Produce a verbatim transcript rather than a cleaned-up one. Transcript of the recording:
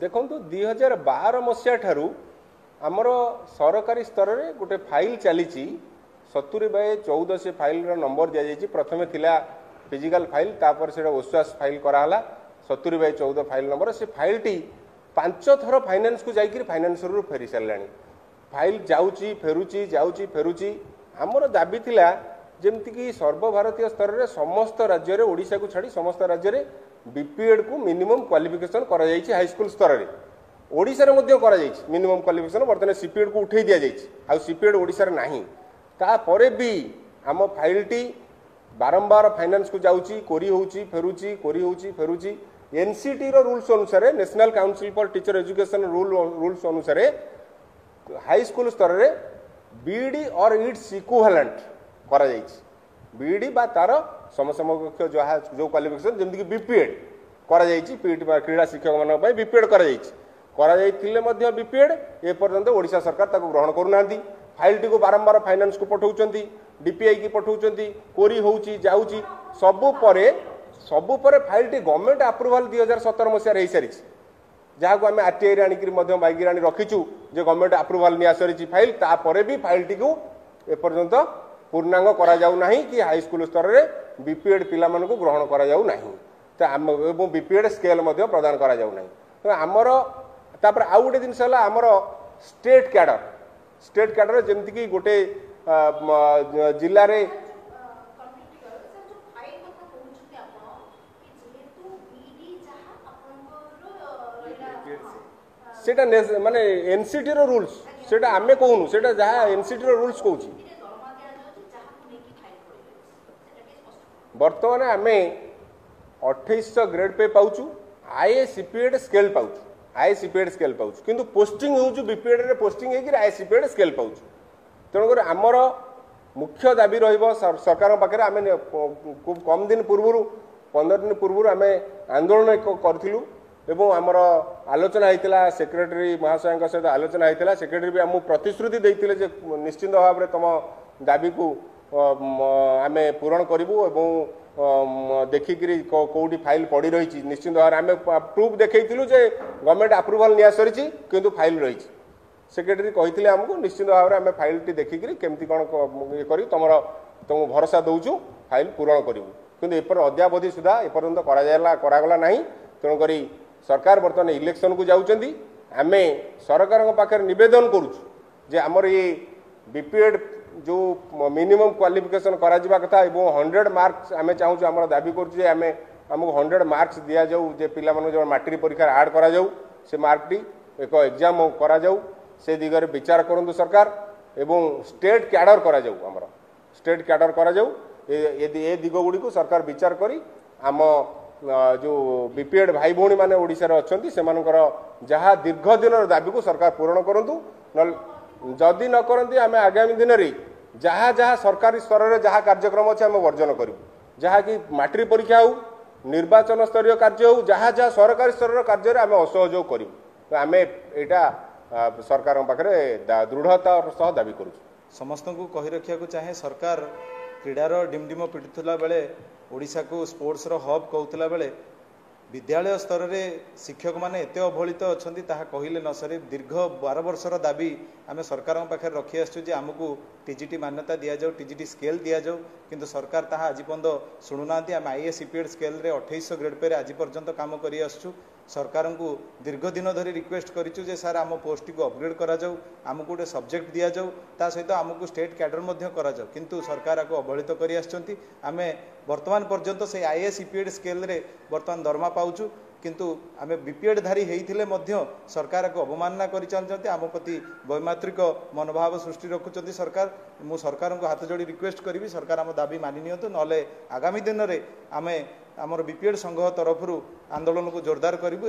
ଦେଖନ୍ତୁ ଦୁଇ ହଜାର ବାର ମସିହା ଠାରୁ ଆମର ସରକାରୀ ସ୍ତରରେ ଗୋଟେ ଫାଇଲ୍ ଚାଲିଛି ସତୁରି ବାଇ ଚଉଦ ସେ ଫାଇଲ୍ର ନମ୍ବର ଦିଆଯାଇଛି ପ୍ରଥମେ ଥିଲା ଫିଜିକାଲ ଫାଇଲ୍ ତାପରେ ସେଇଟା ଓସ୍ୱାସ୍ ଫାଇଲ୍ କରାହେଲା ସତୁରି ବାଇ ଚଉଦ ଫାଇଲ୍ ନମ୍ବର ସେ ଫାଇଲ୍ଟି ପାଞ୍ଚ ଥର ଫାଇନାନ୍ସକୁ ଯାଇକରି ଫାଇନାନ୍ସରୁ ଫେରି ସାରିଲାଣି ଫାଇଲ୍ ଯାଉଛି ଫେରୁଛି ଯାଉଛି ଫେରୁଛି ଆମର ଦାବି ଥିଲା ଯେମିତିକି ସର୍ବଭାରତୀୟ ସ୍ତରରେ ସମସ୍ତ ରାଜ୍ୟରେ ଓଡ଼ିଶାକୁ ଛାଡ଼ି ସମସ୍ତ ରାଜ୍ୟରେ ବିପିଏଡ୍କୁ ମିନିମମ୍ କ୍ୱାଲିଫିକେସନ୍ କରାଯାଇଛି ହାଇସ୍କୁଲ ସ୍ତରରେ ଓଡ଼ିଶାରେ ମଧ୍ୟ କରାଯାଇଛି ମିନିମମ୍ କ୍ୱାଲିଫିକେସନ୍ ବର୍ତ୍ତମାନ ସିପିଏଡ୍କୁ ଉଠେଇ ଦିଆଯାଇଛି ଆଉ ସିପିଏଡ୍ ଓଡ଼ିଶାରେ ନାହିଁ ତାପରେ ବି ଆମ ଫାଇଲ୍ଟି ବାରମ୍ବାର ଫାଇନାନ୍ସକୁ ଯାଉଛି କୋରି ହେଉଛି ଫେରୁଛି କୋରି ହେଉଛି ଫେରୁଛି ଏନ୍ସିଟିର ରୁଲ୍ସ ଅନୁସାରେ National Council for Teacher Education rule rules ଅନୁସାରେ ହାଇସ୍କୁଲ ସ୍ତରରେ ବିଇଡି ଅର୍ it's equivalent କରାଯାଇଛି ବିଇଡି ବା ତାର ସମସମକକ୍ଷ ଯାହା ଯେଉଁ କ୍ୱାଲିଫିକେସନ୍ ଯେମିତିକି ବିପିଏଡ୍ କରାଯାଇଛି ପିଇଟି ବା କ୍ରୀଡ଼ା ଶିକ୍ଷକମାନଙ୍କ ପାଇଁ ବିପିଏଡ୍ କରାଯାଇଛି କରାଯାଇଥିଲେ ମଧ୍ୟ ବିପିଏଡ୍ ଏପର୍ଯ୍ୟନ୍ତ ଓଡ଼ିଶା ସରକାର ତାକୁ ଗ୍ରହଣ କରୁନାହାନ୍ତି ଫାଇଲ୍ଟିକୁ ବାରମ୍ବାର ଫାଇନାନ୍ସକୁ ପଠାଉଛନ୍ତି ଡିପିଆଇ କି ପଠାଉଛନ୍ତି କୋରି ହେଉଛି ଯାଉଛି ସବୁ ପରେ ସବୁ ପରେ ଫାଇଲ୍ଟି ଗଭର୍ଣ୍ଣମେଣ୍ଟ ଆପ୍ରୁଭାଲ ଦୁଇ ହଜାର ସତର ମସିହାରେ ହେଇସାରିଛି ଯାହାକୁ ଆମେ ଆରଟିଆଇରେ ଆଣିକିରି ମଧ୍ୟ ମାଗିକି ଆଣି ରଖିଛୁ ଯେ ଗଭର୍ଣ୍ଣମେଣ୍ଟ ଆପ୍ରୁଭାଲ ନିଆ ସରିଛି ଫାଇଲ୍ ତାପରେ ବି ଫାଇଲ୍ଟିକୁ ଏପର୍ଯ୍ୟନ୍ତ ପୂର୍ଣ୍ଣାଙ୍ଗ କରାଯାଉ ନାହିଁ କି ହାଇସ୍କୁଲ ସ୍ତରରେ ବିପିଏଡ୍ ପିଲାମାନଙ୍କୁ ଗ୍ରହଣ କରାଯାଉ ନାହିଁ ତ ଆମ ଏବଂ ବିପିଏଡ୍ ସ୍କେଲ୍ ମଧ୍ୟ ପ୍ରଦାନ କରାଯାଉ ନାହିଁ ତ ଆମର ତାପରେ ଆଉ ଗୋଟେ ଜିନିଷ ହେଲା ଆମର ଷ୍ଟେଟ୍ କ୍ୟାଡର ଷ୍ଟେଟ୍ କ୍ୟାଡର ଯେମିତିକି ଗୋଟେ ଆ, ମ, ଜିଲ୍ଲାରେ କମ୍ପ୍ଲିଟ୍ କର ସାର୍ ଯୋଉ ଫାଇଲ୍ କଥା କହୁଛନ୍ତି ଆପଣ କି ଯେହେତୁ ବିଇଡି ଯାହା ଆପଣଙ୍କର ରହିଲା ସେଇଟା ନେ- ମାନେ ଏନସିଟିର ରୁଲ୍ସ ସେଇଟା ଆମେ କହୁନୁ ସେଇଟା ଯାହା ଏନସିଟିର ରୁଲ୍ସ କହୁଛି ଏଥିରେ ଦରମା ଦିଆଯାଉଛି ଯାହାକୁ ନେଇକି ଫାଇଲ୍ ପଡ଼ିଯାଇଛି ସେଟା ଟିକେ ସ୍ପଷ୍ଟ କରନ୍ତୁ। ବର୍ତ୍ତମାନ ଆମେ ଅଠେଇଶହ ଗ୍ରେଡ୍ ପେ ପାଉଛୁ ଆଇଏ ସିପିଏଡ୍ ସ୍କେଲ୍ ପାଉଛୁ ଆଇଏ ସିପିଏଡ୍ ସ୍କେଲ୍ ପାଉଛୁ କିନ୍ତୁ ପୋଷ୍ଟିଂ ହେଉଛି ବିପିଏଡ୍ରେ ପୋଷ୍ଟିଂ ହେଇକିରି ଆଇଏ ସିପିଏଡ୍ ସ୍କେଲ୍ ପାଉଛୁ ତେଣୁକରି ଆମର ମୁଖ୍ୟ ଦାବି ରହିବ ସର- ସରକାରଙ୍କ ପାଖରେ ଆମେ ନେ- ଖୁବ୍ କମ୍ ଦିନ ପୂର୍ବରୁ ପନ୍ଦର ଦିନ ପୂର୍ବରୁ ଆମେ ଆନ୍ଦୋଳନ ଏକ କରିଥିଲୁ ଏବଂ ଆମର ଆଲୋଚନା ହେଇଥିଲା ସେକ୍ରେଟାରୀ ମହାଶୟଙ୍କ ସହିତ ଆଲୋଚନା ହେଇଥିଲା ସେକ୍ରେଟାରୀ ବି ଆମକୁ ପ୍ରତିଶ୍ରୁତି ଦେଇଥିଲେ ଯେ ନିଶ୍ଚିନ୍ତ ଭାବରେ ତମ ଦାବିକୁ ଅ, ମ, ଆମେ ପୂରଣ କରିବୁ ଏବଂ ଅ, ମ, ଦେଖିକିରି କୋ- କୋଉଠି ଫାଇଲ୍ ପଡ଼ି ରହିଛି ନିଶ୍ଚିନ୍ତ ଭାବରେ ଆମେ ପ୍ରୁଫ୍ ଦେଖେଇଥିଲୁ ଯେ ଗଭର୍ଣ୍ଣମେଣ୍ଟ ଆପ୍ରୁଭାଲ ନିଆ ସରିଛି କିନ୍ତୁ ଫାଇଲ୍ ରହିଛି ସେକ୍ରେଟାରୀ କହିଥିଲେ ଆମକୁ ନିଶ୍ଚିନ୍ତ ଭାବରେ ଆମେ ଫାଇଲ୍ଟି ଦେଖିକିରି କେମିତି କ'ଣ କ- ଇଏ କରି ତମର ତମକୁ ଭରସା ଦେଉଛୁ ଫାଇଲ୍ ପୂରଣ କରିବୁ କିନ୍ତୁ ଏପରି ଅଦ୍ୟାବଧି ସୁଦ୍ଧା ଏପର୍ଯ୍ୟନ୍ତ କରାଯାଇଲା କରାଗଲା ନାହିଁ ତେଣୁକରି ସରକାର ବର୍ତ୍ତମାନ ଇଲେକ୍ସନକୁ ଯାଉଛନ୍ତି ଆମେ ସରକାରଙ୍କ ପାଖରେ ନିବେଦନ କରୁଛୁ ଯେ ଆମର ଏଇ ବିପିଏଡ୍ ଯେଉଁ ମିନିମମ୍ କ୍ୱାଲିଫିକେସନ୍ କରାଯିବା କଥା ଏବଂ ହଣ୍ଡ୍ରେଡ଼ ମାର୍କସ୍ ଆମେ ଚାହୁଁଛୁ ଆମର ଦାବି କରୁଛୁ ଯେ ଆମେ ଆମକୁ ହଣ୍ଡ୍ରେଡ଼ ମାର୍କସ୍ ଦିଆଯାଉ ଯେ ପିଲାମାନଙ୍କୁ ଯେଉଁ ମାଟ୍ରିକ ପରୀକ୍ଷାରେ ଆଡ଼୍ କରାଯାଉ ସେ ମାର୍କଟି ଏକ ଏକ୍ଜାମ୍ କରାଯାଉ ସେ ଦିଗରେ ବିଚାର କରନ୍ତୁ ସରକାର ଏବଂ ଷ୍ଟେଟ୍ କ୍ୟାଡର କରାଯାଉ ଆମର ଷ୍ଟେଟ୍ କ୍ୟାଡର କରାଯାଉ ଏ ଏ- ଏ ଦିଗ ଗୁଡ଼ିକୁ ସରକାର ବିଚାର କରି ଆମ ଅ, ଯେଉଁ ବିପିଏଡ୍ ଭାଇ ଭଉଣୀମାନେ ଓଡ଼ିଶାରେ ଅଛନ୍ତି ସେମାନଙ୍କର ଯାହା ଦୀର୍ଘ ଦିନର ଦାବିକୁ ସରକାର ପୂରଣ କରନ୍ତୁ ନହେଲେ ଯଦି ନ କରନ୍ତି ଆମେ ଆଗାମୀ ଦିନରେ ଯାହା ଯାହା ସରକାରୀ ସ୍ତରରେ ଯାହା କାର୍ଯ୍ୟକ୍ରମ ଅଛି ଆମେ ବର୍ଜନ କରିବୁ ଯାହାକି ମାଟ୍ରିକ ପରୀକ୍ଷା ହେଉ ନିର୍ବାଚନ ସ୍ତରୀୟ କାର୍ଯ୍ୟ ହେଉ ଯାହା ଯାହା ସରକାରୀ ସ୍ତରର କାର୍ଯ୍ୟରେ ଆମେ ଅସହଯୋଗ କରିବୁ ତ ଆମେ ଏଇଟା ଆ, ସରକାରଙ୍କ ପାଖରେ ଦା- ଦୃଢ଼ତାର ସହ ଦାବି କରୁଛୁ ସମସ୍ତଙ୍କୁ କହି ରଖିବାକୁ ଚାହେଁ ସରକାର କ୍ରୀଡ଼ାର ଡିମଡିମ ପିଟୁଥିଲା ବେଳେ ଓଡ଼ିଶାକୁ ସ୍ପୋର୍ଟସର ହବ୍ କହୁଥିଲା ବେଳେ ବିଦ୍ୟାଳୟ ସ୍ତରରେ ଶିକ୍ଷକମାନେ ଏତେ ଅବହେଳିତ ଅଛନ୍ତି ତାହା କହିଲେ ନ ସରେ ଦୀର୍ଘ ବାର ବର୍ଷର ଦାବି ଆମେ ସରକାରଙ୍କ ପାଖରେ ରଖି ଆସିଛୁ ଯେ ଆମକୁ ଟିଜିଟି ମାନ୍ୟତା ଦିଆଯାଉ ଟିଜିଟି ସ୍କେଲ୍ ଦିଆଯାଉ କିନ୍ତୁ ସରକାର ତାହା ଆଜି ପର୍ଯ୍ୟନ୍ତ ଶୁଣୁନାହାନ୍ତି ଆମେ ଆଇଏସ୍ ସିପିଏଡ୍ ସ୍କେଲ୍ରେ ଅଠେଇଶହ ଗ୍ରେଡ୍ ପେରେ ଆଜି ପର୍ଯ୍ୟନ୍ତ କାମ କରି ଆସୁଛୁ ସରକାରଙ୍କୁ ଦୀର୍ଘ ଦିନ ଧରି ରିକ୍ୱେଷ୍ଟ କରିଛୁ ଯେ ସାର୍ ଆମ ପୋଷ୍ଟଟିକୁ ଅପଗ୍ରେଡ୍ କରାଯାଉ ଆମକୁ ଗୋଟେ ସବଜେକ୍ଟ ଦିଆଯାଉ ତା ସହିତ ଆମକୁ ଷ୍ଟେଟ୍ କ୍ୟାଡର ମଧ୍ୟ କରାଯାଉ କିନ୍ତୁ ସରକାର ଆକୁ ଅବହେଳିତ କରି ଆସିଛନ୍ତି ଆମେ ବର୍ତ୍ତମାନ ପର୍ଯ୍ୟନ୍ତ ସେଇ ଆଇଏସ୍ ଇପିଏଡ୍ ସ୍କେଲ୍ରେ ବର୍ତ୍ତମାନ ଦରମା ପାଉଛୁ କିନ୍ତୁ ଆମେ ବିପିଏଡ୍ ଧାରୀ ହେଇଥିଲେ ମଧ୍ୟ ସରକାର ଆକୁ ଅବମାନନା କରି ଚାଲିଛନ୍ତି ଆମ ପ୍ରତି ବୈମାତୃକ ମନୋଭାବ ସୃଷ୍ଟି ରଖୁଛନ୍ତି ସରକାର ମୁଁ ସରକାରଙ୍କୁ ହାତ ଯୋଡ଼ି ରିକ୍ୱେଷ୍ଟ କରିବି ସରକାର ଆମ ଦାବି ମାନି ନିଅନ୍ତୁ ନହେଲେ ଆଗାମୀ ଦିନରେ ଆମେ ଆମର ବିପିଏଡ୍ ସଂଘ ତରଫରୁ ଆନ୍ଦୋଳନକୁ ଜୋରଦାର କରିବୁ